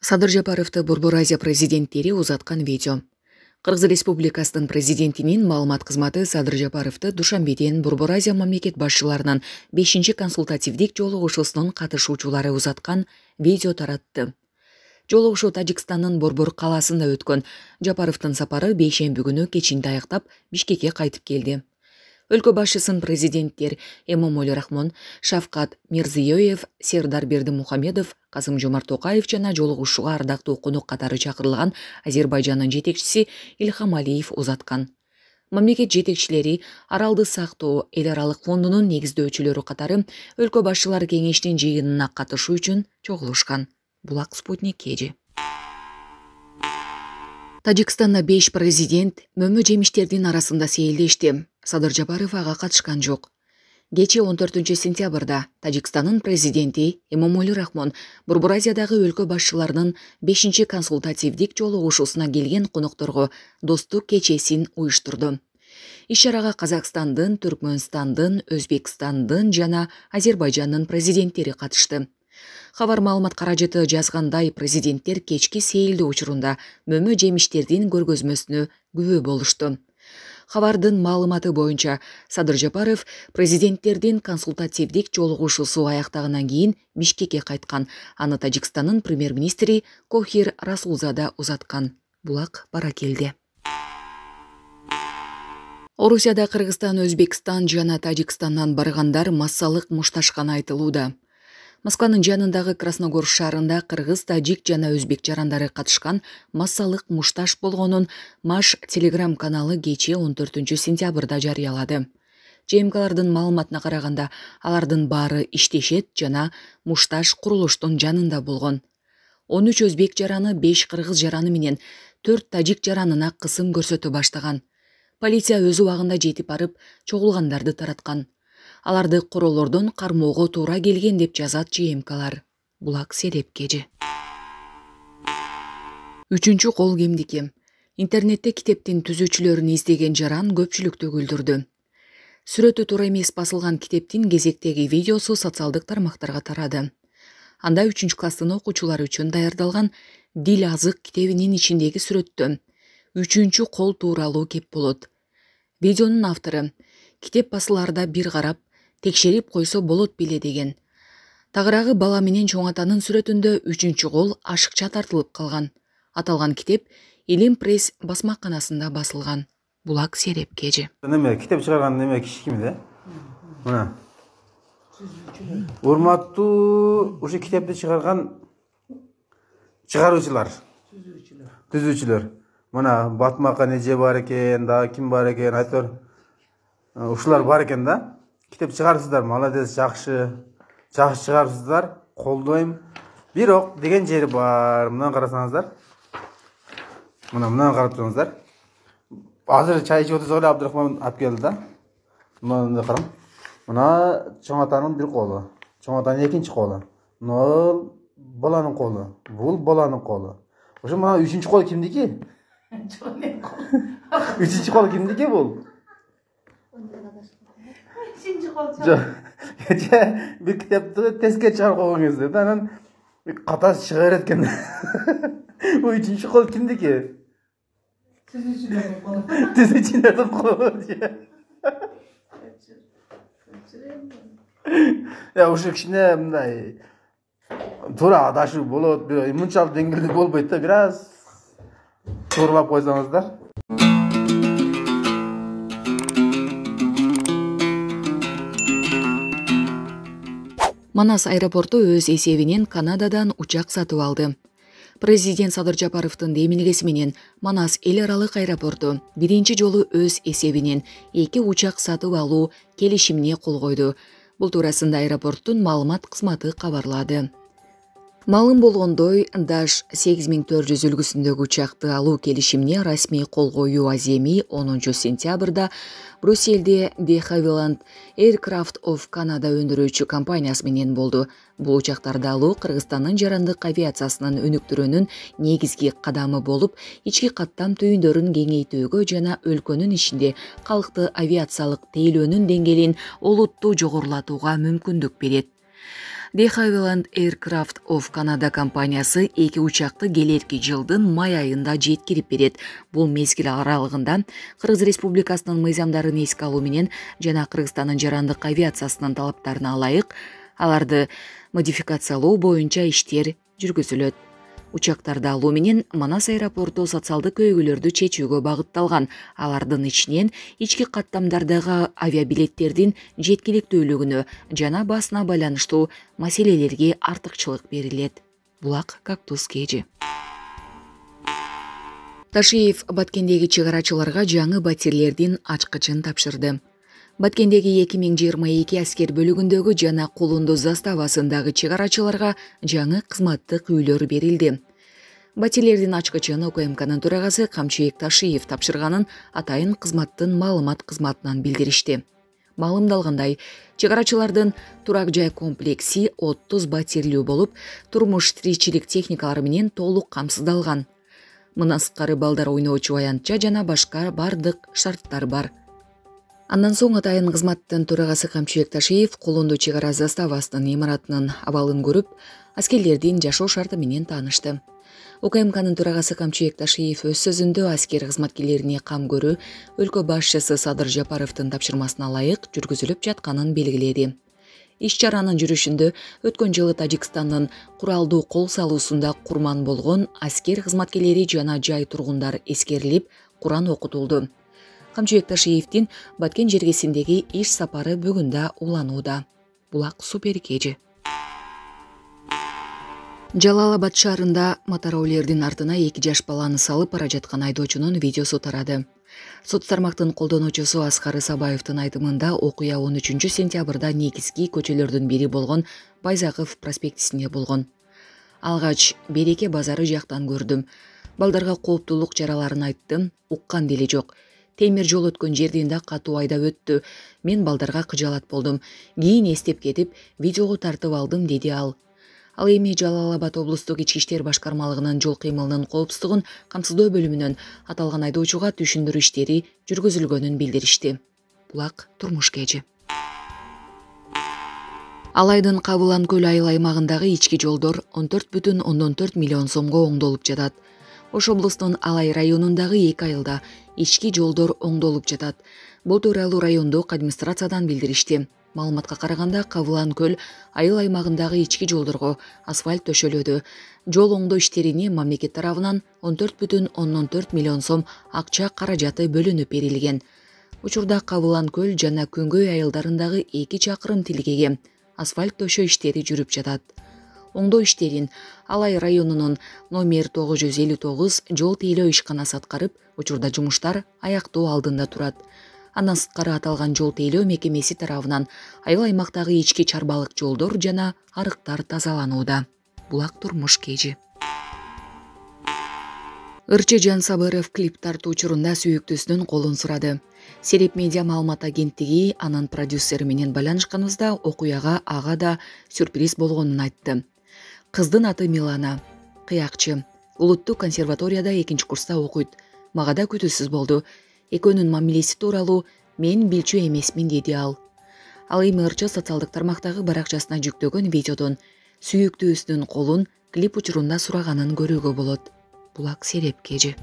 Садыр Жапаровду Борбор Азия президенттери узаткан видео. Кыргыз Республикасынын президентинин маалымат кызматы Садыр Жапаровду Душанбеден Борбор Азия мамлекет башчыларынын 5 консультативдик жолугушуусунун катышуучулары узаткан видео таратты. Жолугушуу Тажикстандын Борбор калаасында өткөн. Жапаровдун сапары бейшемби күнү кечинде аяктап Бишкекке кайтып келди. Өлкө башчысын президенттер Эмомали Рахмон, Шавкат Мирзиёев, Сердар Бердимухамедов, Касым-Жомарт Токаев жана жолугушууга ардактуу конок катары чакырылган Азербайжандын жетекчиси Ильхам Алиев узаткан. Мамлекет жетекчилери аралды сактоо эл аралык фондунун негиздөөчүлөрү катары өлкө башчылары кеңешинин жыйынына катышуу үчүн чогулушкан. Булак Спутник KG. Тажикстанда 5 президент мөмө жемиштердин арасында сейилдешти. Садыр Жапаров ага катышкан жок. Кечээ 14 сентябрда Тажикстандын президенти Эмомали Рахмон Борбор Азиядагы өлкө башчыларынын 5 консультативдик жолугушуусуна келген конокторго достук кечесин уюштурду. Иш-чарага Казакстандын, Түркмөнстандын, Өзбекстандын жана Азербайжандын президенттери катышты. Хабар маалымат каражыты жазгандай, президенттер кечки сейилдөө учурунда мөмө жемиштердин көргөзмөсүнө күбө болушту. Хабардын маалыматы боюнча Садыр Жапаров президенттердин консультативдик жолугушуусу аяктагандан кийин Бишкекке кайткан. Аны Тажикстандын премьер-министри Кохир Расулзада узаткан. Булак бара келди. Орусияда Кыргызстан, Өзбекстан жана Тажикстандан баргандар массалык мушташканы айтылууда. Москванын жанындагы Красногор шаарында кыргыз, тажик жана өзбек жарандары катышкан массалык мушташ болгонун Маш телеграм каналы кечээ 14 сентябрда жарыялады. ЖМКлардын маалыматына караганда, алардын баары иштешет жана мушташ курулуштун жанында болгон. 13 өзбек жараны, 5 кыргыз жараны менен 4 тажик жаранына кысым көрсөтө баштаган. Полиция өз убагында жетип барып, чогулгандарды тараткан. Аларды королордон кармоого туура келген деп жазат ЖМКлар. Булак Селеп KG. Үчүнчү кол кимдики? Интернетте китептин түзүүчүлөрүн издеген жаран көпчүлүктү күлдүрдү. Сүрөтү туура эмес басылган китептин кезектеги видеосу социалдык тармактарга тарады. Анда 3-класстын окуучулары үчүн даярдалган Дил азык китебинин ичиндеги сүрөттө 3 кол тууралуу кеп болот. Видеонун автору китеп басылаарда бир карап, текшерип койсо болот беле деген. Тагыраагы бала менен чоң атанын сүрөтүндө 3 кол ашыкча тартылып калган. Аталган китеп Илим пресс басмаканасында басылган. Булак Селеп KG. Неме китеп чыгарган неме киши ким да? Мына. Урматтуу ушу китепти чыгарган чыгаруучулар, түзүүчүлөр. Мына Батмакан эже бар экен, да ким бар экен, айтор ушулар бар экен да. Китеп чыгарсыздар, молодец, жакшы чыгарсыздар, колдойм. Бирок деген жери бар. Мына карасаңыздар. Мына карап турыңуздар. Азыр чай ичип отурсак эле Абдырахман алып келди да. Мына карам. Мына чоң атанын бир колу, чоң атанын экинчи колу. Бул баланын колу, бул баланын колу. Ошо мына 3 кол кимдики? 3 кол кимдики бул? Bir kitapты теске чыгарып койгоңуз да, анан каташ чыгар экен. Bu 3 кол кимдики? Түзүүчүлөрдүн колу. Я ушу кичине мындай туура адашуу болот, бирок мынчалык деңгээлде болбойт да, бир аз тууралап койсоңуздар. Манас аэропорту өз эсебинен Канададан учак сатып алды. Президент Садыр Жапаровдун демилгеси менен Манас эл аралык аэропорту биринчи жолу өз эсебинен 2 учак сатып алуу келишимине кол койду. Бул туурасында аэропорттун маалымат кызматы кабарлады. Маалым болгондой, Dash 8400 үлгүсүндөгү учакты алуу келишимине расмий кол коюу аземи 10 сентябрда Брюссельде De Havilland Aircraft of Canada өндүрүүчү компаниясы менен болду. Бул учактарды алуу Кыргызстандын жарандык авиациясынын өнүктүрүүнүн негизги кадамы болуп, ички каттам түйүндөрүн кеңейтүүгө жана өлкөнүн ичинде калкты авиациялык тейлөөнүн деңгээлин олуттуу жогорулатууга мүмкүндүк берет. De Havilland Aircraft of Canada компаниясы 2 учакты келерки жылдын май айында жеткирип берет. Бул мезгил аралыгында Кыргыз Республикасынын мыйзамдарын эске алуу менен жана Кыргызстандын жарандык авиациясынын талаптарына ылайык аларды модификациялоо боюнча иштер жүргүзүлөт. Учактарды алуу менен Манас аэропорту социалдык көйгөйлөрдү чечүүгө багытталган. Алардын ичинен ички каттамдардагы авиабилеттердин жеткиликтүүлүгүнө жана басына байланыштуу маселелерге артыкчылык берилет. Булак Кактус KG. Ташиев Баткендеги чыгарачыларга жаңы батирлердин ачкычын тапшырды. Баткендеги 2022 аскер бөлүгүндөгү жана Кулунду заставасындагы чыгарачыларга жаңы кызматтык үйлөр берилди. Батирлердин ачкычын УКМКнын төрагасы Камчыбек Ташиев тапшырганын атайын кызматтын маалымат кызматынан билдиришти. Маалымдалгандай, чыгарачылардын турак жай комплекси 30 батирлүү болуп, турмуш тиричилик техникалары менен толук камсыздалган. Мына сырткары балдар ойноочу аянтча жана башка бардык шарттар бар. Андан соң атайын кызматтын төрагасы Камчыбек Ташиев Кулунду чек ара заставасынын имаратынын абалын көрүп, аскерлердин жашоо шарты менен таанышты. УКМКнын төрагасы Камчыбек Ташиев өз сөзүндө аскер кызматкерлерине кам көрүү өлкө башчысы Садыр Жапаровдун тапшырмасына ылайык жүргүзүлүп жатканын белгиледи. Иш-чаранын жүрүшүндө өткөн жылы Тажикстандын куралдуу кол салуусунда курман болгон аскер кызматкерлери жана жай тургундар эскерилип, Куран окутулду. Камчыбек Ташиевдин Баткен жергесиндеги иш сапары бүгүн да уланууда. Булак Супер KG. Жалал Абад шаарында мотороолердин артына 2 жаш баланы салып бара жаткан айдоочунун видеосу тарады. Сот тармактын колдонуучусу Аскар Исабаевдин айтымында окуя 13 сентябрда негизги көчөлөрдүн бири болгон Байзаков проспектисинде болгон. Алгач Береке базары жактан көрдүм. Балдарга кооптуулук жараларын айттым, уккан деле жок. Темир жол өткөн жерден да катуу айдап өттү. Мен балдарга кыжалат болдум. Кийин эстеп кетип, видеого тартып алдым, деди ал. Ал эми Жалал Абад облустук ички иштер башкармалыгынын жол кыймылынын коопсуздугун камсыздоо бөлүмүнөн аталган айдоочуга түшүндүрүү иштери жүргүзүлгөнүн билдиришти. Булак Турмуш KG. Алайдын Кабылан көл айыл аймагындагы ички жолдор 14,4 миллион сомго оңдолуп жатат. Ош облустунун Алай районундагы 2 айылда ички жолдор оңдолуп жатат. Бул тууралуу райондук администрациядан билдиришти. Маалыматка караганда Кабылан көл айыл аймагындагы ички жолдорго асфальт төшөлүүдө. Жол оңдоо иштерине мамлекет тарабынан 14,4 миллион сом акча каражаты бөлүнүп берилген. Учурда Кабылан көл жана Күнгөй айылдарындагы 2 чакырым тилкеге асфальт төшөө иштери жүрүп жатат. Оңдоо иштерин Алай районунун номер 959 жол тейлөө ишканасы аткарып, учурда жумуштар аяктоо алдында турат. Андан сырткары аталган жол тейлөө мекемеси тарабынан айыл аймактагы ички чарбалык жолдор жана арыктар тазаланууда. Булак Турмуш KG. Ырчы Жансабыров клип тартуу учурунда сүйүктүүсүнүн колун сурады. Сереп медиа маалымат агенттиги анын продюсери менен байланышканыбызда окуяга ага да сюрприз болгонун айтты. Кыздын аты Милана, кыякчы. Улуттук консерваторияда 2 курста окуйт. Мага да күтүүсүз болду. Экөөнүн мамилеси тууралуу мен билчү эмесмин, деди ал. Ал эми ырчы социалдык тармактагы баракчасына жүктөгөн видеодон сүйүктүүсүнүн колун клип учурунда сураганын көрүүгө болот. Булак Сереп KG.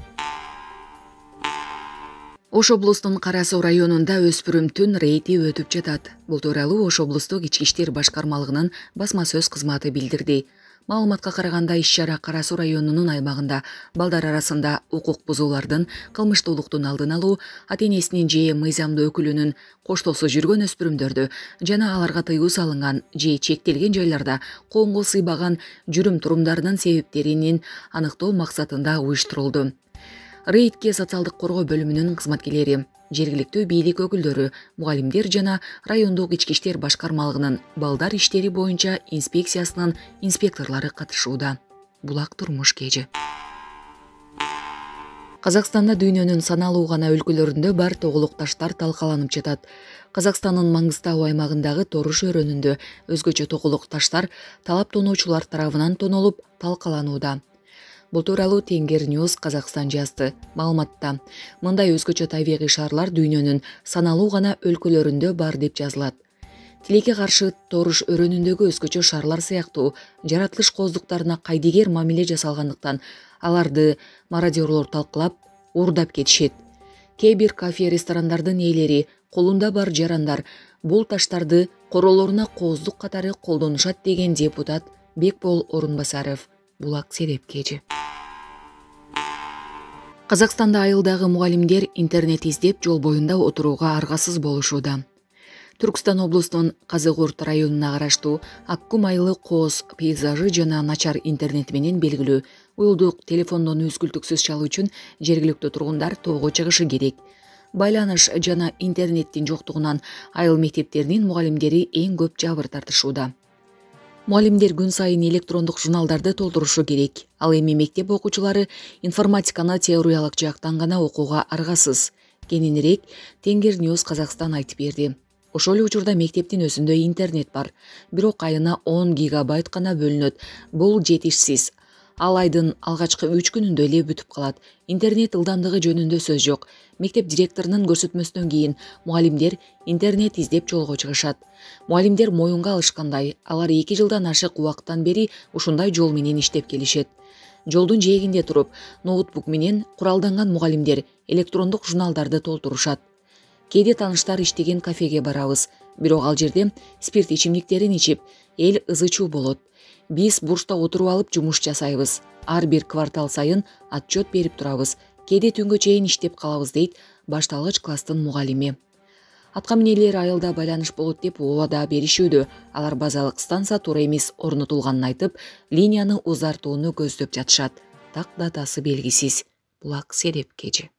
Ош облустунун Кара Суу районунда өспүрүмдүн рейди өтүп жатат. Бул тууралуу Ош облустук ички иштер башкармалыгынын басма сөз кызматы билдирди. Маалыматка караганда иш-чара Кара Суу районунун аймагында балдар арасында укук бузуулардын, кылмыштуулуктун алдын алуу, ата-энесинин же мыйзамдуу өкүлүнүн коштоосу жүргөн өспүрүмдөрдү жана аларга тыюу салынган же чектелген жайларда коомго сыйбаган жүрүм-турумдарынын себептерин аныктоо максатында уюштурулду. Рейдке социалдык коргоо бөлүмүнүн кызматкерлери, жергиликтүү бийлик өкүлдөрү, мугалимдер жана райондук ички иштер башкармалыгынын балдар иштери боюнча инспекциясынын инспекторлору катышууда. Булак Турмуш KG. Казакстанда дүйнөнүн саналуу гана өлкөлөрүндө бар тоголук таштар талкаланып жатат. Казакстандын Маңгыстау аймагындагы Торуш өрөөнүндө өзгөчө тоголук таштар талап тоноочулар тарабынан тонолуп талкаланууда. Бул тууралуу Тенгер News Казакстан жазды. Маалыматта мындай өзгөчө табигый шаарлар дүйнөнүн саналуу гана өлкөлөрүндө бар деп жазылат. Тилекке каршы торуш өрөөнүндөгү өзгөчө шарлар сыяктуу жаратылыш кооздуктарына кайдыгер мамиле жасалгандыктан аларды мародёрлор талкалап, уурдап кетишет. Кээ бир кафе ресторандардын ээлери, колунда бар жарандар бул таштарды королоруна кооздук катары колдонушат деген депутат Бекбол Орунбасаров Булак Сереп кежи. Казакстанда айылдагы мугалимдер интернет издеп жол боюнда отурууга аргасыз болушууда. Түркстан облусунун Казыгурт районуна караштуу Аккум айылы кооз пейзажы жана начар интернет менен белгилүү. Уюлдук телефондон үзгүлтүксүз чалуу үчүн жергиликтүү тургундар тоого чыгышы керек. Байланыш жана интернеттин жоктугунан айыл мектептеринин мугалимдери эң көп жабыр тартышууда. Мугалимдер күн сайын электрондук журналдарды толтурушу керек. Ал эми мектеп окуучулары информатиканы теориялык жактан гана окууга аргасыз. Кененирээк Тенгер News Казакстан айтып берди. Ошол эле учурда мектептин өзүндө интернет бар, бирок айына 10 гигабайт гана бөлүнөт. Бул жетишсиз. Ал айдын алгачкы 3 күнүндө эле бүтүп калат. Интернет ылдамдыгы жөнүндө сөз жок. Мектеп директорунун көрсөтмөсүнөн кийин мугалимдер интернет издеп жолго чыгышат. Мугалимдер моюнга алышкандай, алар 2 жылдан ашык убакыттан бери ушундай жол менен иштеп келишет. Жолдун жээгинде туруп, ноутбук менен куралданган мугалимдер электрондук журналдарды толтурушат. Кээде тааныштар иштеген кафеге барабыз, бирок ал жерде спирт ичимдиктерин ичип, эл ызычуу болот. Биз бурчта отуруп алып жумуш жасайбыз. Ар бир квартал сайын отчет берип турабыз. Кээде түнгө чейин иштеп калабыз, дейт башталгыч класстын мугалими. Аткаминерлер айылда байланыш болот деп убада беришүүдө. Алар базалык станция туура эмес орнотулганын айтып, линияны узартууну көздөп жатышат. Так датасы белгисиз. Булак Сереп кежи.